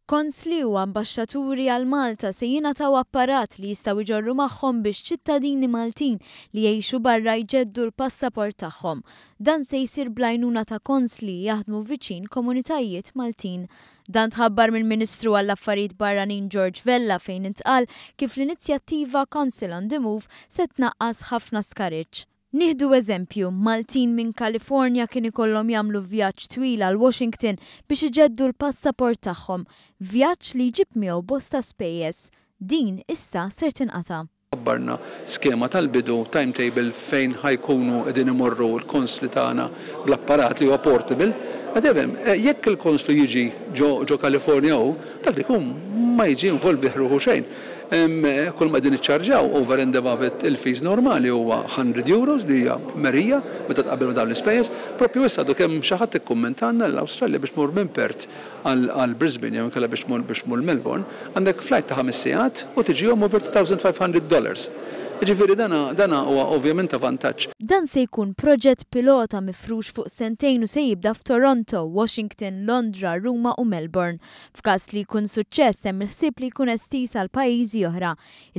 Konsli u ambaxxaturi għal Malta se jingħataw apparat li jistgħu jġorru magħhom biex ċittadini Maltin li jgħixu barra jġeddu l-passaport tagħhom. Dan se jsir bl-għajnuna ta' konsli li jaħdmu viċin komunitajiet Maltin. Dan tħabbar mill-Ministru għall-Affarijiet Barranin George Vella fejn intqal kif l-inizjattiva Consul on the Move se tnaqqas ħafna skariġġ. Nieħdu eżempju, Maltin minn Kalifornja kien ikollhom jagħmlu vjaġġ twil għal Washington biex iġeddu l-passaport tagħhom, vjaġġ li jġib miegħu bosta spejjeż. Din issa ser tinqata'. Ħabbarna skema tal-bidu, timetable fejn ħa jkunu qegħdin imorru l-konsli tagħna bl-apparat li huwa portable. Qed ifhem, jekk il-konslu jiġi ġo ġo Kalifornja hu, dak li jkun ma jiġi involvih ruħu xejn. Kull ma qegħdin niċċarġaw over and above it il-fees normali huwa €100 li hija merija meta tqabbel ma' dawn l-ispejjeż. Proprju issa għadu kemm xi ħadd ikkummentalna li l-Awstralja biex tmur minn Perth għal Brisbane jew inkella biex tmur biex tmur Melbourne għandek flight ta' ħames sigħat u tiġihom over $2,500. Jiġifieri dana dana huwa ovvjament ta' vantaġġ. Dan se jkun proġett pilota mifrux fuq sentejn u se jibda f'Toronto, Washington, Londra, Ruma u Melbourne. F'każ li jkun suċċess hemm il-ħsieb li jkun estiż għal pajjiżi oħra.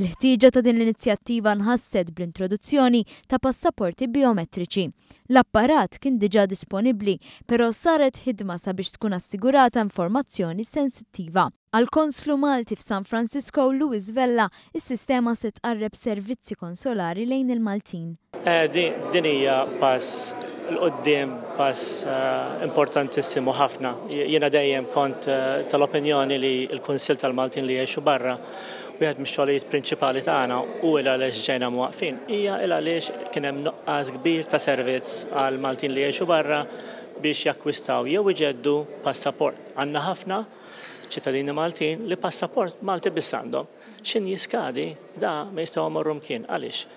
Il-ħtieġa ta' din l-inizjattiva nħasset bl-introduzzjoni ta' passaporti bijometriċi. L-apparat kien diġà disponibbli, però saret ħidma sabiex tkun assigurata informazzjoni sensittiva. Għall-Konslu Malti f'San Francisco, Louis Vella, is-sistema se tqarreb servizzi konsolari lejn il-Maltin. Din hija pass 'l quddiem, pass importantissimu ħafna. Jiena dejjem kont tal-opinjoni li l-Kunsill tal-Maltin li jgħixu barra, wieħed mix-xogħlijiet prinċipali tagħna u il għaliex ġejna mwaqqfin, hija il għaliex kien hemm nuqqas kbir ta' servizz għall-Maltin li jgħixu barra biex jakkwistaw jew iġeddu passaport. Għandna ħafna ċittadini Maltin li passaport Malti biss għandhom. X'in jiskadi, da ma jistgħu jmorru mkien. Għaliex?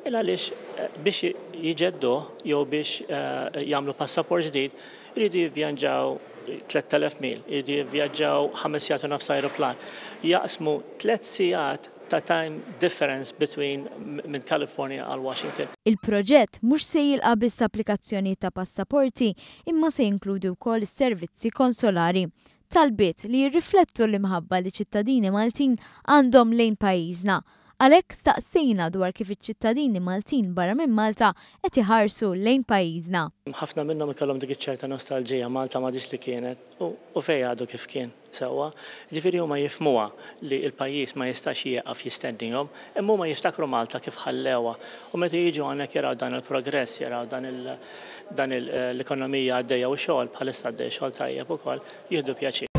Il għaliex biex jġedduh jew biex jagħmlu passaport ġdid iridu jivvjaġġaw 3,000 mil, iridu jivvjaġġaw 5 sigħat u nofs ajruplan. Jaqsmu 3 sigħat ta' time difference between minn California għal Washington. Il-proġett mhux se jilqa' biss applikazzjonijiet ta' passaporti imma se jinkludi wkoll is-servizzi konsolari. Talbiet li jirriflettu l-imħabba li ċittadini Maltin għandhom lejn pajjiżna. Għalhekk staqsejna dwar kif iċ-ċittadini Maltin barra minn Malta qed iħarsu lejn pajjiżna. Ħafna minnhom ikollhom dik iċ-ċerta nostalġija, Malta m'għadhiex li kienet u fejn għadu kif kien, sewwa. Jiġifieri huma jifhmuha li l-pajjiż ma jistax jieqaf jistennihom, imma huma jiftakru Malta kif ħallewha u meta jiġu hawnhekk jaraw dan il-progress, jaraw dan il dan l-ekonomija għaddejja u xogħol, bħalissa għaddej xogħol tajjeb ukoll, jieħdu pjaċir.